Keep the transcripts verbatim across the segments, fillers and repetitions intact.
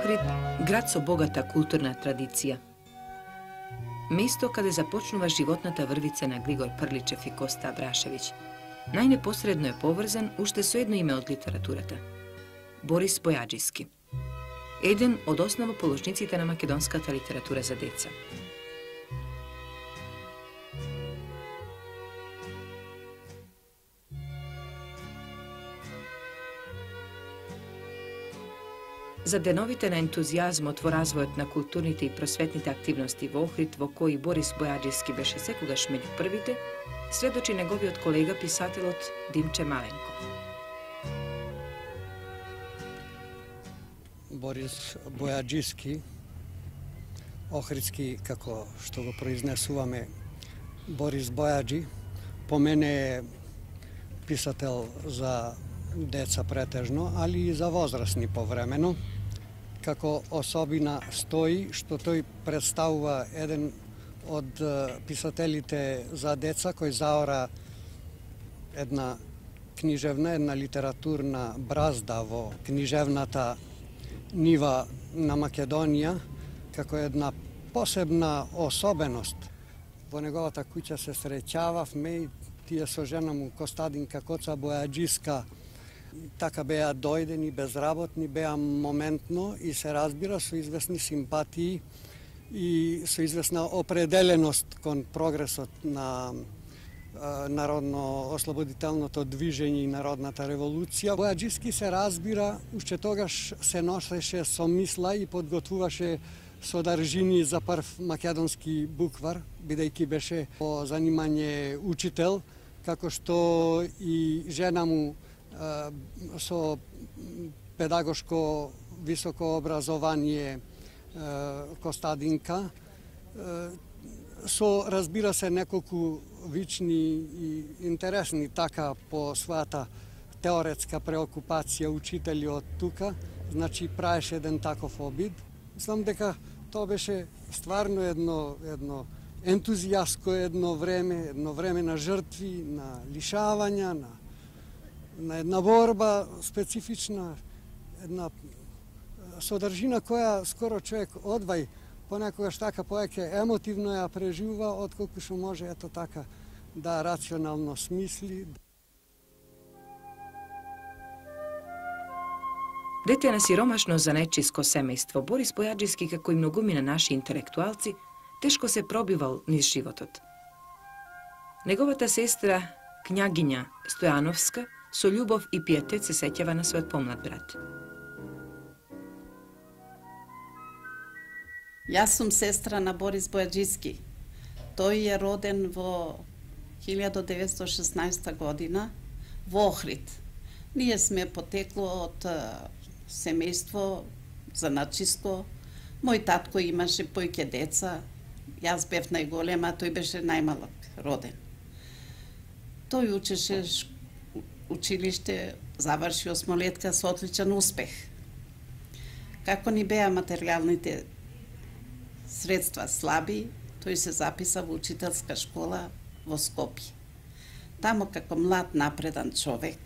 Охрид, град со богата културна традиција. Место каде започнува животната врвица на Григор Прличев и Коста Абрашевиќ. Најнепосредно е поврзан уште со едно име од литературата – Борис Бојаджиски. Еден од основоположниците на македонската литература за деца. За деновите на ентузијазмот во развојот на културните и просветните активности во Охрид, во кои Борис Бојаджиски беше секогаш меѓу првите, сведочи неговиот колега писателот Димче Маленко. Борис Бојаджиски, охридски, како што го произнесуваме, Борис Бојаджи, по мене е писател за деца претежно, али и за возрастни повремено. Како особина стои што тој представува еден од писателите за деца кој заора една книжевна, една литературна бразда во книжевната нива на Македонија, како една посебна особеност. Во неговата куќа се среќававме и тие со жена му Костадинка Коца Бојаджиска така беа дојдени, безработни, беа моментно и се разбира со известни симпатии и со известна определеност кон прогресот на народно-ослободителното движење и народната револуција. Бојаджиски се разбира, уште тогаш се носеше со мисла и подготвуваше содржини за прв македонски буквар, бидејќи беше по занимање учител, како што и жена му со педагошко високо образование Костадинка, со, разбира се, неколку вични и интересни така по својата теоретска преокупација учители од тука, значи праеше еден таков обид. Мислам дека тоа беше стварно едно, едно ентузијаско едно време, едно време на жртви, на лишавања, на на една борба специфична, една содржина која скоро човек одвај понекогаш така повеќе емотивно ја преживува, отколку што може ето така да рационално смисли. Дете на сиромашно занечиско семејство, Борис Бојаджиски, како и многумина наши интелектуалци, тешко се пробивал низ животот. Неговата сестра, књагиња Стојановска, со љубов и пиетет се сеќава на својот помлад брат. Јас сум сестра на Борис Бојаджиски. Тој е роден во илјада деветстотини и шеснаесета година во Охрид. Ние сме потекло од семејство заначиско. Мој татко имаше појќе деца. Јас бев најголема, тој беше најмалок роден. Тој учеше училиште, заврши осмолетка со одличен успех. Како ни беа материјалните средства слаби, тој се записа во учителска школа во Скопје. Тамо како млад напредан човек,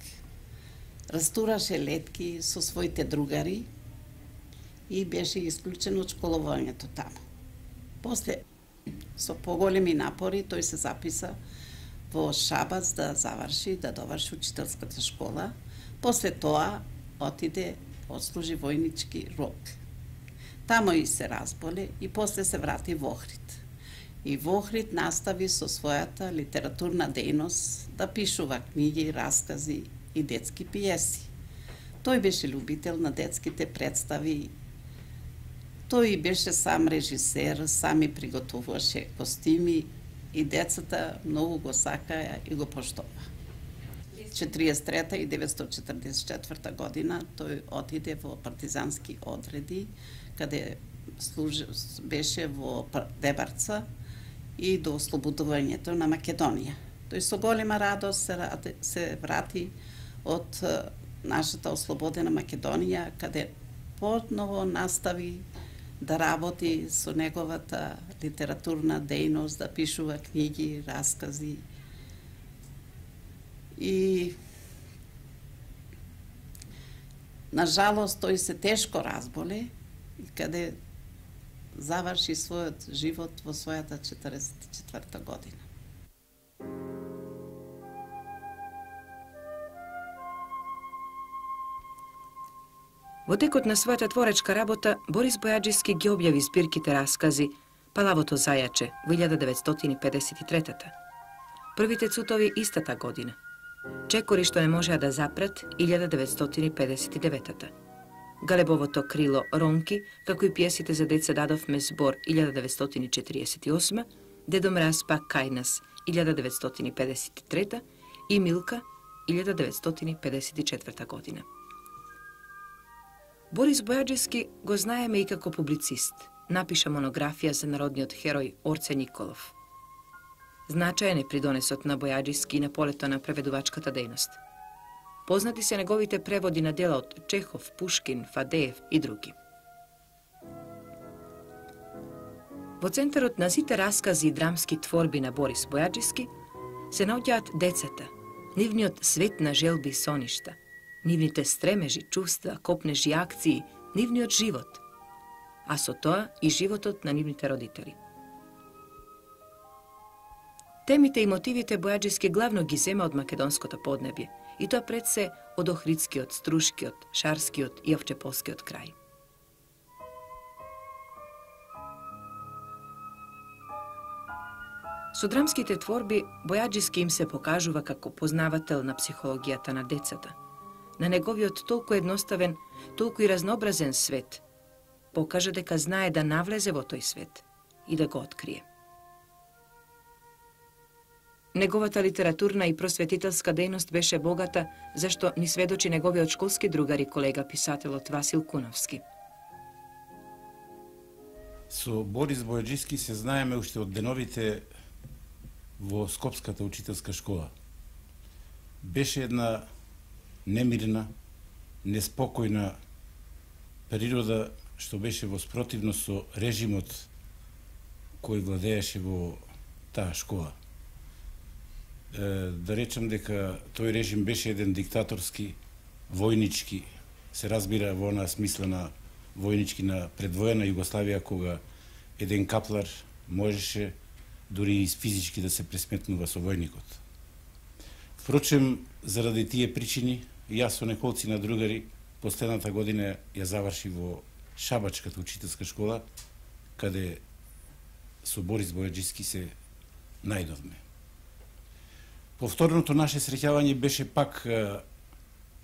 растураше летки со своите другари и беше исклучен од школувањето тамо. После, со поголеми напори, тој се записа во Шабац да заврши, да доврши учителската школа. После тоа отиде, отслужи војнички рок. Тамо и се разболе и после се врати во Охрид. И во Охрид настави со својата литературна дејност да пишува книги, раскази и детски пиеси. Тој беше љубител на детските представи. Тој беше сам режисер, сами приготвуваше костими и децата многу го сакаја и го поштова. четириесет и трета и деветстотини четрдесет и четврта година тој отиде во партизански одреди, каде служи, беше во Дебарца и до ослободувањето на Македонија. Тој со голема радост се, се врати од нашата ослободена Македонија, каде подново настави да работи со неговата литературна дејност, да пишува книги, раскази. И на жалост тој се тешко разболе и каде заврши својот живот во својата четиридесет и четврта година. Во текот на својата творечка работа, Борис Бојаджиски ги објави збирките раскази Палавото зајаче во илјада деветстотини педесет и трета. Првите цутови истата година. Чекори што не можеа да запрат илјада деветстотини педесет и девета. Галебовото крило Ронки, како и пиесите за деца дадовме збор илјада деветстотини четириесет и осма, Дедо Мраз пак кај нас илјада деветстотини педесет и трета и Милка илјада деветстотини педесет и четврта година. Борис Бојаджиски го знаеме и како публицист. Напиша монографија за народниот херој Орце Николов. Значаен е придонесот на Бојаджиски на полето на преведувачката дејност. Познати се неговите преводи на дела од Чехов, Пушкин, Фадеев и други. Во центарот на сите раскази и драмски творби на Борис Бојаджиски се наоѓаат децата, нивниот свет на желби и соништа, нивните стремежи, чувства, копнежи акции, нивниот живот, а со тоа и животот на нивните родители. Темите и мотивите Бојаджиски главно ги зема од македонското поднебје, и тоа пред се од Охридскиот, Струшкиот, Шарскиот и Овчеполскиот крај. Со драмските творби Бојаджиски им се покажува како познавател на психологијата на децата, на неговиот толку едноставен, толку и разнообразен свет, покажа дека знае да навлезе во тој свет и да го открие. Неговата литературна и просветителска дејност беше богата, зашто ни сведочи неговиот школски другар и колега писателот Васил Куновски. Со Борис Бојаджиски се знаеме уште од деновите во Скопската учителска школа. Беше една немирна, неспокојна природа што беше во спротивност со режимот кој владееше во таа школа. Да речам дека тој режим беше еден диктаторски, војнички, се разбира во онаа смислена војнички на предвоена Југославија, кога еден каплар можеше дури и физички да се пресметнува со војникот. Впрочем, заради тие причини, јас со неколци на другари последната година ја заврши во Шабачката учителска школа, каде со Борис Бојаджиски се најдовме. Повторното наше среќавање беше пак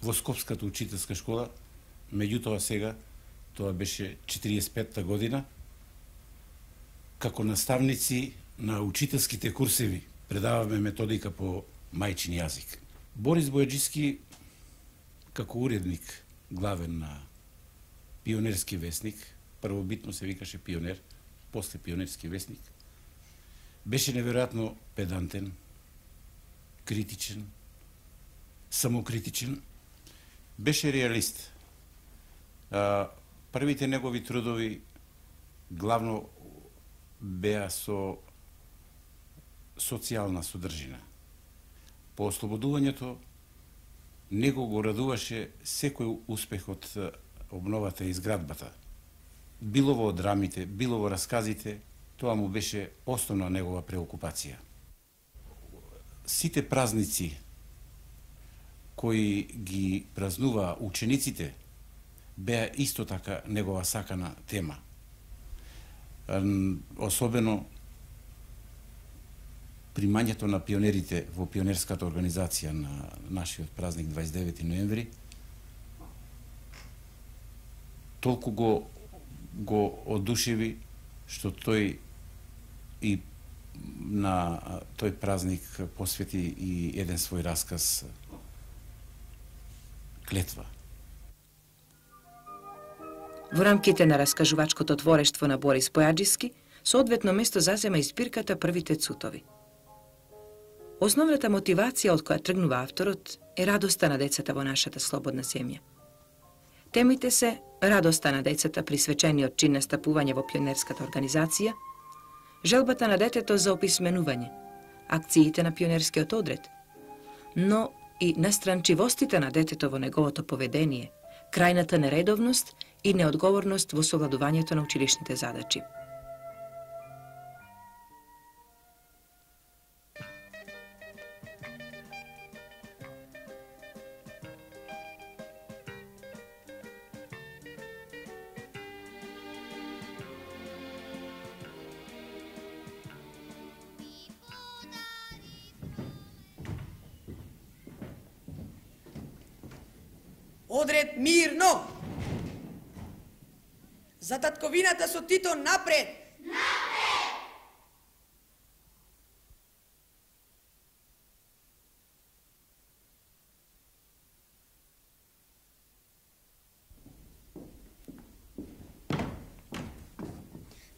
во Скопската учителска школа, меѓутоа сега, тоа беше четириесет и петта година, како наставници на учителските курсеви предаваме методика по мајчин јазик. Борис Бојаджиски, како уредник главен на Пионерски весник, првобитно се викаше Пионер, после Пионерски весник, беше неверојатно педантен, критичен, самокритичен, беше реалист. А, првите негови трудови главно беа со социјална содржина. По ослободувањето него го радуваше секој успех од обновата и изградбата. Било во драмите, било во расказите, тоа му беше основна негова преокупација. Сите празници кои ги празнуваа учениците беа исто така негова сакана тема. Особено примањето на пионерите во пионерската организација на нашиот празник дваесет и девети ноември толку го го одушеви што тој и на тој празник посвети и еден свој расказ Клетва. Во рамките на раскажувачкото творештво на Борис Бојаджиски, соодветно место зазема и збирката Првите цутови. Основната мотивација од која тргнува авторот е радоста на децата во нашата слободна земја. Темите се радоста на децата при свечениот чин настапување во пионерската организација, желбата на детето за описменување, акциите на пионерскиот одред, но и настранчивостите на детето во неговото поведение, крајната нередовност и неодговорност во совладувањето на училишните задачи. Одред мирно! За татковината со Тито напред! Напред!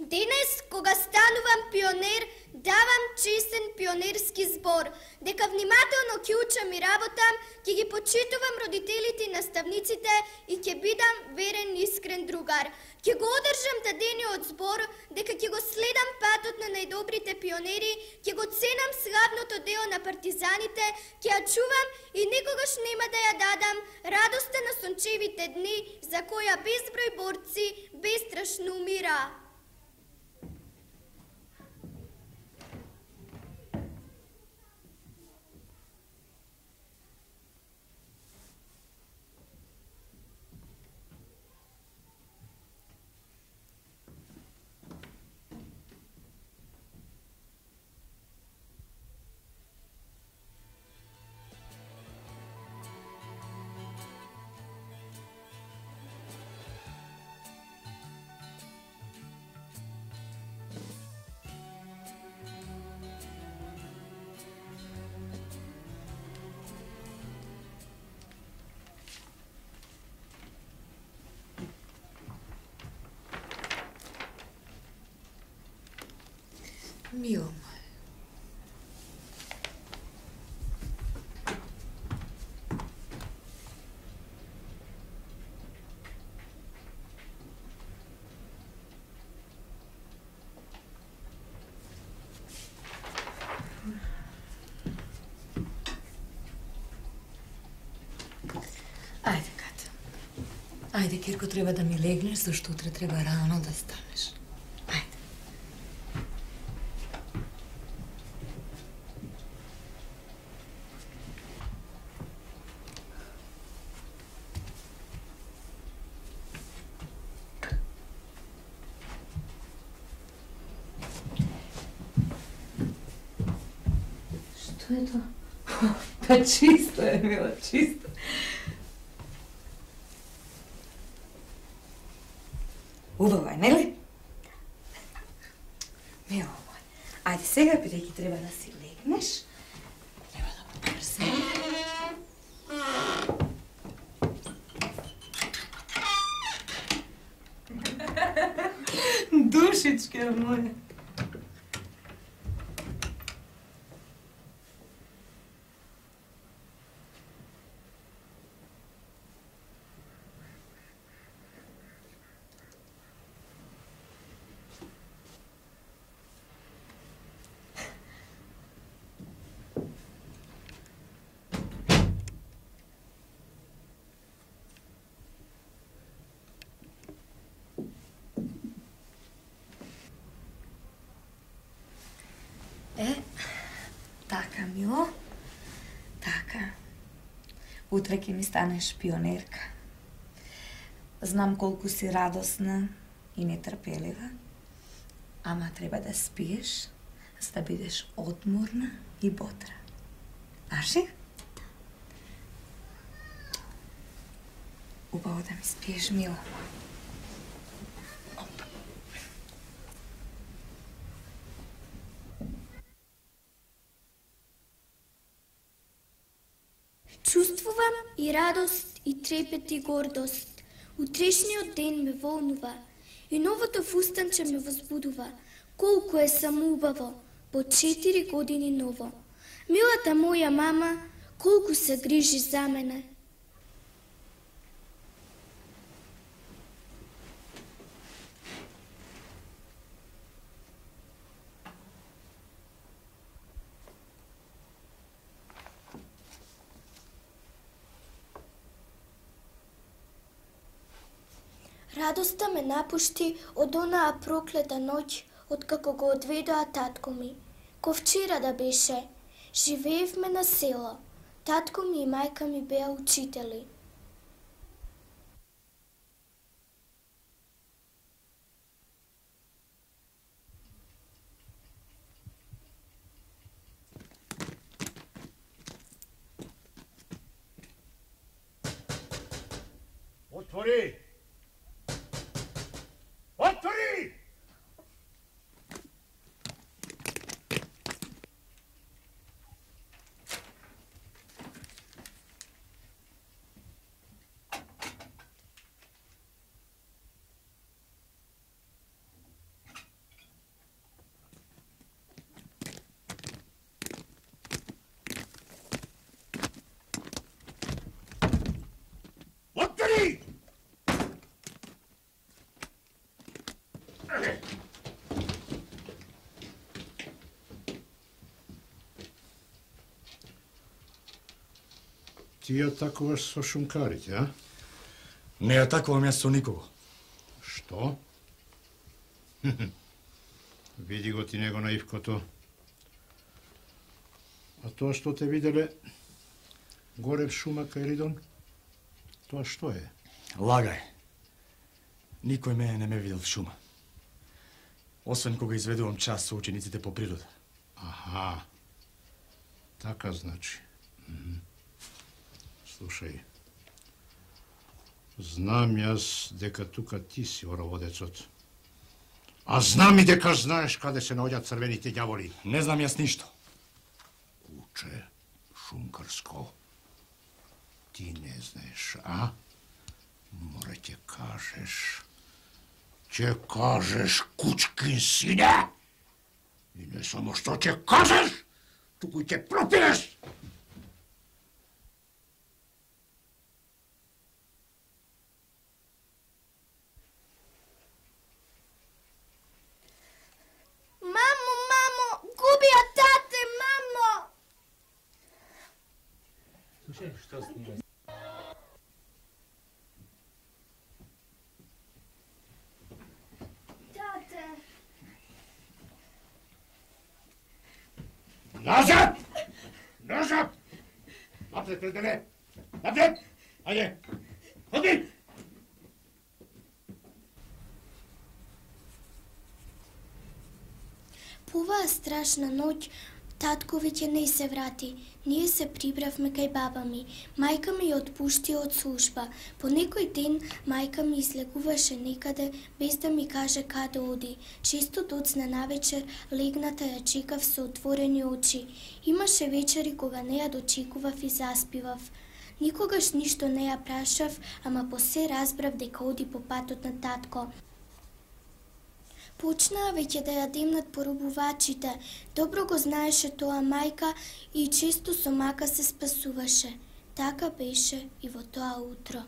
Денес, кога станувам пионер, давам честен пионерски збор, дека внимателно ќе учам и работам, ќе ги почитувам родителите и наставниците и ќе бидам верен и искрен другар. Ќе го одржам дадениот збор, дека ќе го следам патот на најдобрите пионери, ќе го ценам славното дело на партизаните, ќе ја чувам и никогаш нема да ја дадам радоста на сончевите дни, за која безброј борци бестрашно умира. Мило мој. Ајде, Ката. Ајде, Кирко, треба да ми легнеш, зашто утре треба рано да станеш. Што е тоа? Па чисто е, мила, чисто. Убаво е, нели? Мила мој, ајде сега, бидејќи треба да си легнеш, треба да побрзаме. Душичке моја. Е, така, мило, така. Утре ќе ми станеш пионерка. Знам колку си радосна и нетрпелива, ама треба да спиеш, за да бидеш одморна и бодра. Аши? Убаво да ми спиеш, мило. Чувствувам и радост, и трепет, и гордост. Утрешниот ден ме волнува и новото фустанче ме возбудува. Колку е самоубаво, по четири години ново. Милата моја мама, колку се грижи за мене. Радоста ме напушти од онаа проклета ноќ, откако го одведоа татко ми. Ко вчера да беше. Живеевме на село. Татко ми и мајка ми беа учители. Отвори! Отвори! Отвори! Ти ја атакуваш со шумкарите, а? Не атакувам јас со никого. Што? Види го ти него на Ивкото. А тоа што те виделе горе в шума кај Ридон, тоа што е? Лагај. Никој мене не ме видел в шума. Освен кога изведувам час со учениците по природа. Аха. Така значи. Mm-hmm. Слушај. Знам јас дека тука ти си ороводецот. А знам и дека знаеш каде се наоѓаат црвените ѓаволи. Не знам јас ништо. Куче шумкарско. Ти не знаеш, а? Мора ќе кажеш. Ќе кажеш, кучкин сине. И не само што ќе кажеш, туку и ќе пропилеш. Мамо, мамо, губија тате, мамо! Слушај, што снима? Тате! Назад! Назад! Напред, пределе! Напред! Ајде! Ходи! По оваа страшна ноќ, татко веќе не се врати. Ние се прибравме кај баба ми. Мајка ми ја отпушти од служба. По некој ден мајка ми излегуваше некаде без да ми каже каде оди. Често доцна навечер легната ја чекав со отворени очи. Имаше вечери кога не ја дочекував и заспивав. Никогаш ништо не ја прашав, ама посе разбрав дека оди по патот на татко. Почнаа веќе да ја демнат поробувачите. Добро го знаеше тоа мајка и често со мака се спасуваше. Така беше и во тоа утро.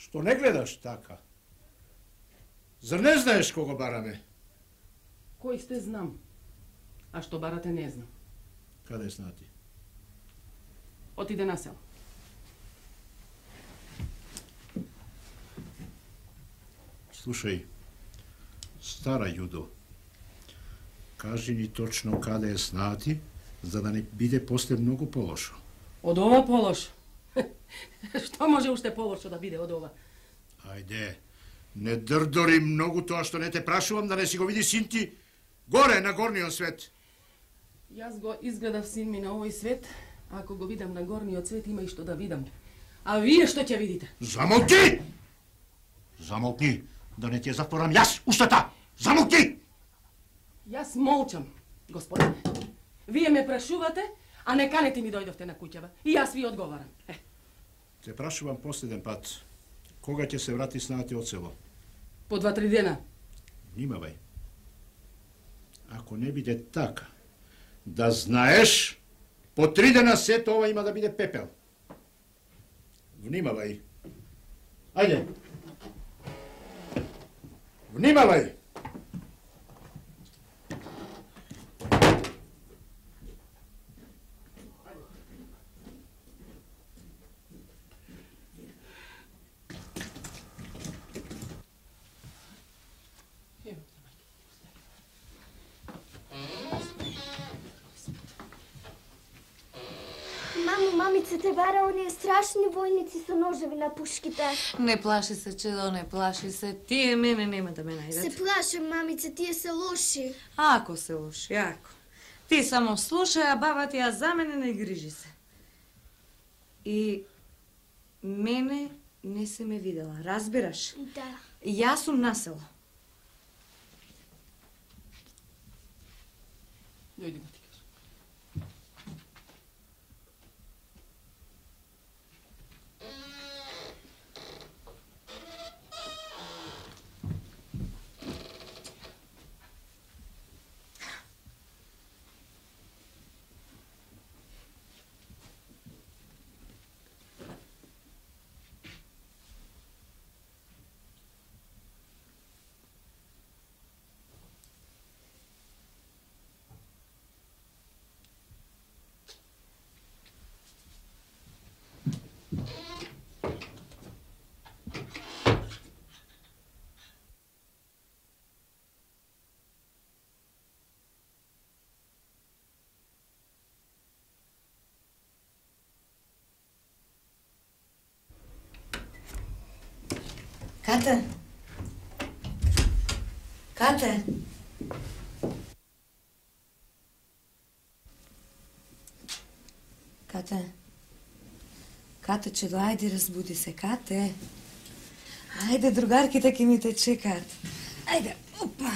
Што не гледаш така? Зар не знаеш кого бараме? Кој сте знам, а што барате не знам. Каде знати? Отиде на село. Слушај, стара Јудо, кажи ни точно каде е снати, за да не биде после многу полошо. Од ова полошо? Што може уште полошо да биде од ова? Ајде, не дрдори многу тоа што не те прашувам, да не си го види син ти горе на горниот свет. Јас го изгледав син ми на овој свет, а ако го видам на горниот свет има и што да видам. А вие што ќе видите? Замолки! Замолкни, да не ти ја затворам јас устата! Замолки! Јас молчам, господине. Вие ме прашувате, а не канете ми дојдовте на куќава. И јас ви одговарам. Е. Те прашувам последен пат, кога ќе се врати снати од село? По два-три дена. Внимавај. Ако не биде така, да знаеш, по три дена сето ова има да биде пепел. Внимавај. Ајде. Внимавај. Мамо, мамица те бара оние страшни војници со ножеви на пушките. Не плаши се, чедо, не плаши се. Тие мене нема да ме најдат. Се плашам, мамица, тие се лоши. Ако се лоши, ако. Ти само слушај, а баба ти ја за мене не грижи се. И мене не се ме видела, разбираш? Да. Јас сум на село. Дојди ма ти кажа. Кате? Кате? Кате? Кате, чедо, ајде, разбуди се, Кате. Ајде, другарките ќе ми те чекаат. Ајде, опа!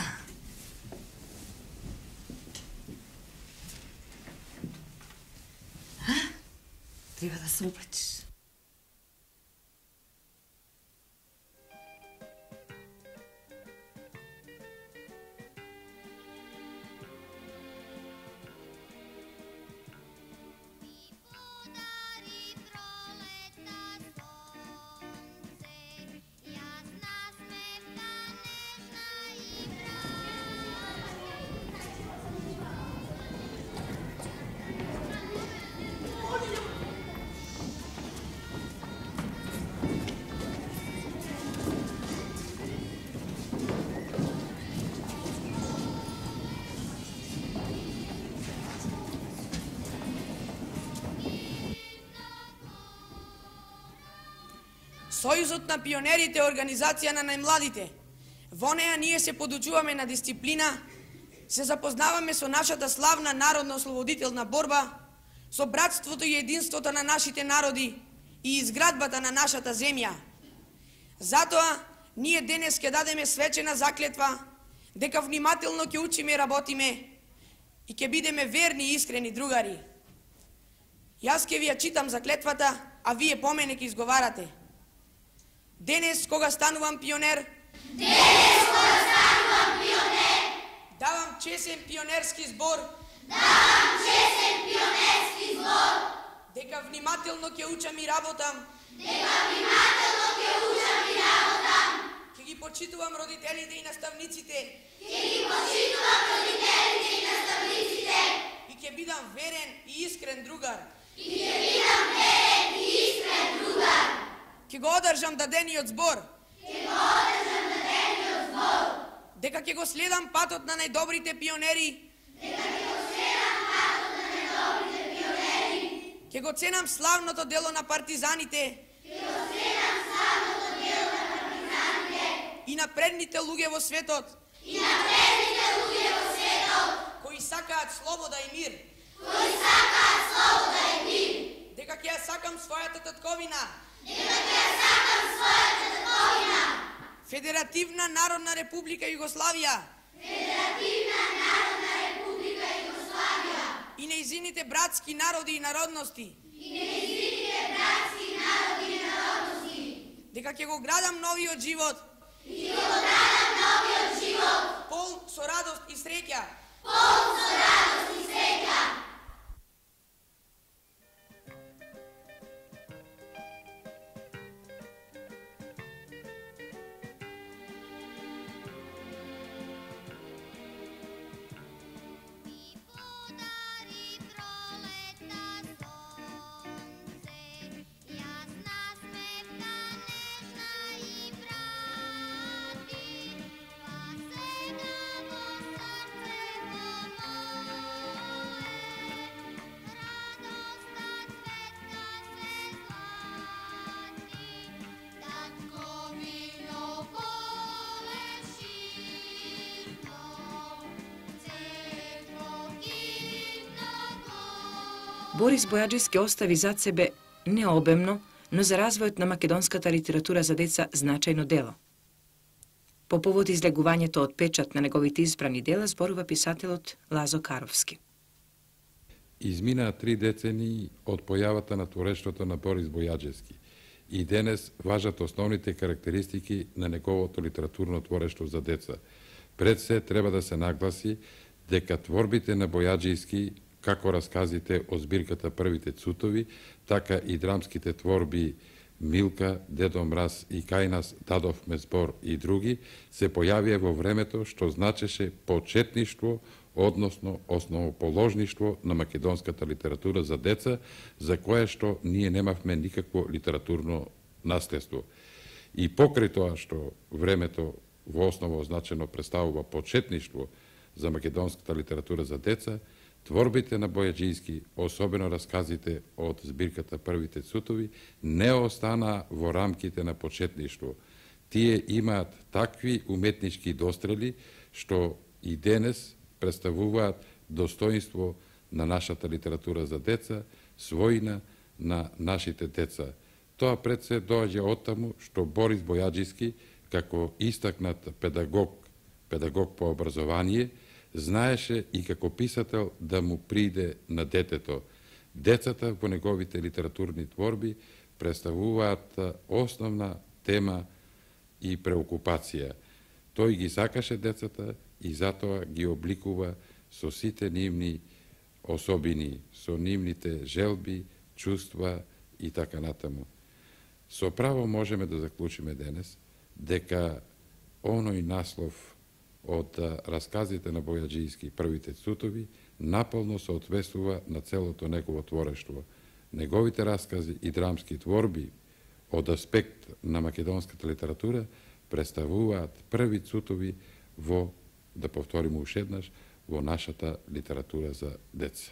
А? Треба да се облечеш. Сојузот на пионерите е организација на најмладите. Во неја ние се подучуваме на дисциплина, се запознаваме со нашата славна народно-ослободителна борба, со братството и единството на нашите народи и изградбата на нашата земја. Затоа, ние денес ќе дадеме свечена заклетва, дека внимателно ќе учиме и работиме и ќе бидеме верни и искрени другари. Јас ќе ви ја читам заклетвата, а вие по мене ќе изговарате. Денес, кога станувам пионер, Денес, кога станувам пионер, давам чесен пионерски збор, давам чесен пионерски збор, дека внимателно ќе учам и работам, дека внимателно ќе учам и работам, ќе ги почитувам родителите и наставниците, ќе ги почитувам родителите и наставниците, и ќе бидам верен и искрен другар, и ќе бидам верен и искрен другар, ќе го одржам дадениот збор, ќе го одржам дадениот збор. Дека ќе го следам патот на најдобрите пионери. Дека ќе го следам патот на најдобрите пионери. Ќе го ценам славното дело на партизаните. Ќе го ценам славното дело на партизаните. И напредните луѓе во светот. И напредните луѓе во светот. Кои сакаат слобода и мир. Кои сакаат слобода и мир. Дека ќе ја сакам својата татковина. Дека ќе ја сакам својата татковина. Федеративна Народна Република Југославија. Федеративна Народна Република Југославија. И нејзините братски народи и народности. И нејзините братски народи и народности. Дека ќе го градам новиот живот. И ќе го градам новиот живот. Полн со радост и среќа. Полн со радост и среќа. Борис Бојаджиски остави зад себе не обемно, но за развојот на македонската литература за деца значајно дело. По повод излегувањето од печат на неговите избрани дела зборува писателот Лазо Каровски. Изминаа три децении од појавата на творештвото на Борис Бојаджиски и денес важат основните карактеристики на неговото литературно творештво за деца. Пред се треба да се нагласи дека творбите на Бојаджиски, како расказите од збирката Првите цутови, така и драмските творби Милка, Дедо Мраз и Кај нас дадовме збор и други, се појавија во времето што значеше почетништво, односно основоположништво на македонската литература за деца, за кое што ние немавме никакво литературно наследство. И покрај тоа што времето во основа означено представува почетништво за македонската литература за деца, творбите на Бојаджиски, особено расказите од збирката Првите цутови, не останаа во рамките на почетништво. Тие имаат такви уметнички дострели што и денес представуваат достоинство на нашата литература за деца, својна на нашите деца. Тоа пред се доаѓа од таму што Борис Бојаджиски, како истакнат педагог, педагог по образование, знаеше и како писател да му приде на детето. Децата во неговите литературни творби представуваат основна тема и преокупација. Тој ги сакаше децата и затоа ги обликува со сите нивни особини, со нивните желби, чувства и така натаму. Со право можеме да заклучиме денес дека оној наслов од расказите на Бојаджиски Првите цутови наполно соодветствува на целото негово творештво. Неговите раскази и драмски творби од аспект на македонската литература представуваат први цутови во, да повториме ушеднаш, во нашата литература за деца.